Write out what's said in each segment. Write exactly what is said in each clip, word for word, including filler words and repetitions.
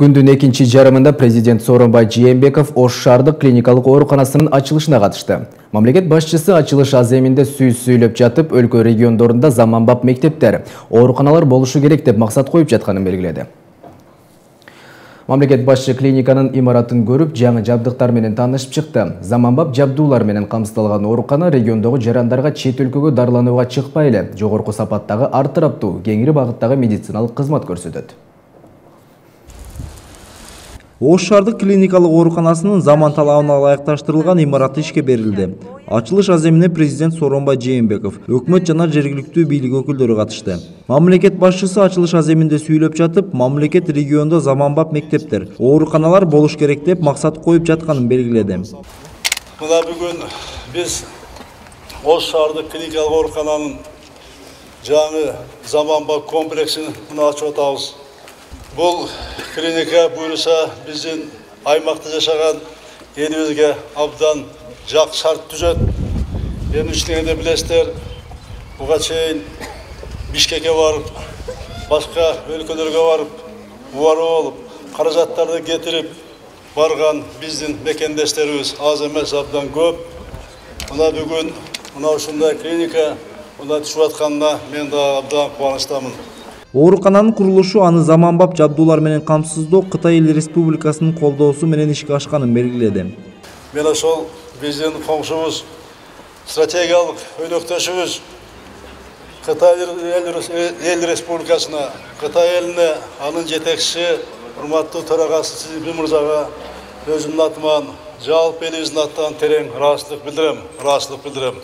Күндүн экинчи жарымында президент Сооронбай Жээнбеков Ош шаардык клиникалык ооруканасынын ачылышына катышты. Мамлекет башчысы ачылыш аземинде сөз сүйлөп жатып, өлкө региондорунда заманбап мектептер, ооруканалар болушу керек деп максат коюп жатканын белгиледи. Мамлекет башчы клиниканын имаратын көрүп, жаңы жабдыктар менен таанышып чыкты. Заманбап жабдуулар менен камсыздалган оорукана региондогу жарандарга чет өлкөгө дарыланууга чыкпай эле жогорку сапаттагы ар тараптуу, кеңири багыттагы медициналык кызмат көрсөтөт. Ош шаардык клиникалык ооруканасынын заман талабына ылайыкташтырылган имараты ишке берилди. Ачылыш аземине президент Сооронбай Жээнбеков, өкмөт жана жергиликтүү бийлик өкүлдөрү катышты. Мамлекет башчысы ачылыш аземинде сүйлөп жатып, мамлекет региондо заманбап мектептер, ооруканалар болуш керек деп максат коюп жатканын белгиледи. Мына бүгүн биз Ош шаардык клиникалык оорукананын жаңы заманбап комплексин ачып атабыз. Бұл клиника буюрса биздин аймакта жашаган элибизге абдан жак шарт түзөт. Эми ичиңерде билесиздер, буга чейин Бишкекке барып, башка өлкөлөргө барып, убарып алып, каражаттарды кетирип барган биздин мекендештерибиз аз эмес, абдан көп. Мына бүгүн мына ушундай клиника мына түшүп атканына мен да абдан кубанычтамын. Оорукананын курулушу аны заманбап жабдуулар менен камсыздоо Кытай Эл Республикасынын колдоосу менен ишке ашканын белгиледи. Мен ошол биздин коңшубуз, стратегиялык өнөктөшүбүз Кытай Эл Республикасына, Кытай элине, анын жетекчиси, урматтуу төрагасы Си Цзиньпин мырзага өзүмдүн атыман, жалпы элибиздин атынан терең ыраазычылык билдирем, ыраазычылык билдирем.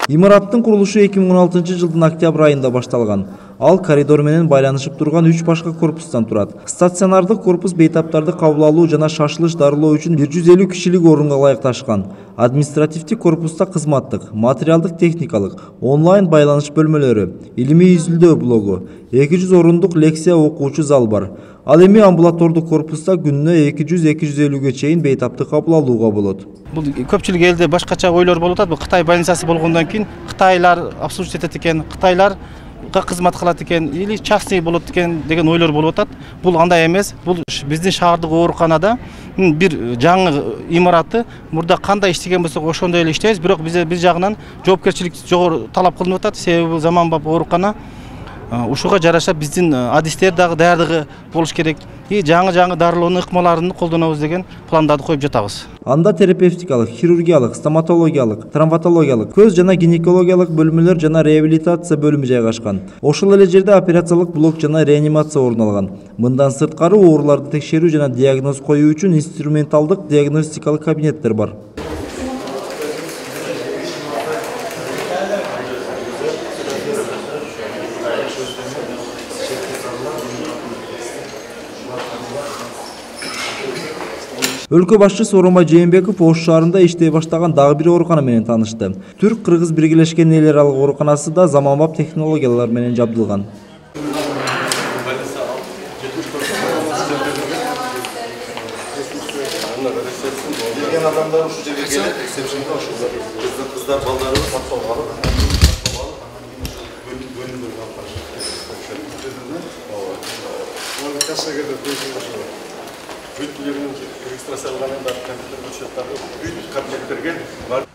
Имараттын курулушу эки миң он алтынчы жылдын октябрь айында башталган. Ал коридор менен байланышып турган үч башка корпустан турат. Стационардык корпус бейтаптарды кабыл алуу жана шашылыш дарылоо үчүн бир жүз элүү кишилик орунга ылайыкташкан. Административдик корпуста кызматтык, материалдык техникалык, онлайн байланыш бөлмөлөрү, илимий изилдөө блогу, эки жүз орундук лекция окуучу зал бар. Ал эми амбулатордук корпуста күнүнө эки жүз эки жүз элүүгө чейин бейтапты кабыл алууга болот. Бул көпчүлүк элде башкача ойлор болуп атат. Бул Кытай больницасы болгондон кийин Кытайлар обслуживать этет экен, Кытайлар кызмат кылат экен, или частный болот экен деген ойлор болуп атат. Бул андай эмес. Бул биздин шаардык ооруканада бир жаңы имараты мурда кандай иштеген болсок ошондой эле иштейбиз, бирок биз биз жагынан жоопкерчилик жогору талап кылынып атат. Себеби заманбап оорукана ушуга жараша биздин адистер дагы даярдыгы болуш керек. И жаңы-жаңы дарылоонун ыкмаларын колдонобуз деген пландарды коюп жатабыз. Анда терапевтикалык, хирургиялык, стоматологиялык, травматологиялык, көз жана гинекологиялык бөлмөлөр жана реабилитация бөлүмү жайгашкан. Ошол эле жерде операциялык блок жана реанимация орун алган. Мындан сырткары ооруларды текшерүү жана диагноз коюу үчүн инструменталдык диагностикалык кабинеттер бар. Өлкө башчысы Сооронбай Жээнбеков Ош шаарында иштей баштаган дагы бир оорукана менен таанышты. Түрк-кыргыз биргелешкен элер аралык ооруканасы да заманбап технологиялар менен жабдылган.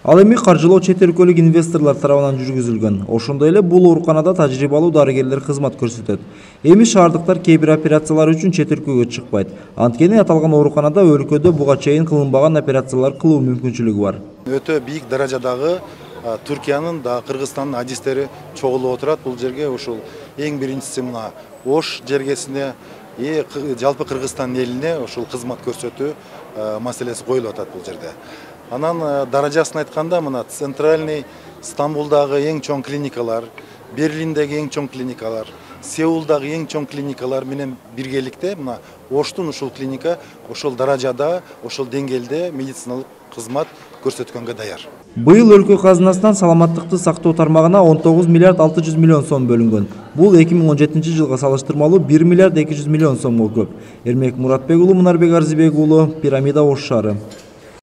Ал эми каржылоо чет өлкөлүк инвесторлор тарабынан жүргүзүлгөн. Ошондой эле бул ооруканада тажрыйбалуу дарыгерлер кызмат көрсөтөт. Эми шаардыктар кээ бир операциялар үчүн чет өлкөгө чыкпайт. Анткени аталган ооруканада өлкөдө буга чейин кылынбаган операциялар кылуу мүмкүнчүлүгү бар. Өтө бийик даражадагы Түркиянын да Кыргызстандын адистери чогулуп отурат бул жерге. Ушул эң биринчиси мына Ош жергесине и жалпы Кыргызстан элине ушул кызмат көрсөтүү маселеси коюлуп атат бул жерде. Анан даражасын айтканда мына центральный Стамбулдагы эң чоң клиникалар, Берлиндеги эң чоң клиникалар, Сеулдагы эң чоң клиникалар менен биргеликте мына Оштун ушул клиника ошол даражада, ошол деңгээлде медициналык кызмат көрсөткөнгө даяр. Быйыл өлкө казынасынан саламаттыкты сактоо тармагына он тогуз миллиард алты жүз миллион сом бөлүнгөн. Бул эки миң он жетинчи жылга салыштырмалуу бир миллиард эки жүз миллион сомго көп. Эрмек Муратбек уулу, Мунарбек Арзыбек уулу, Пирамида, Ош шаары.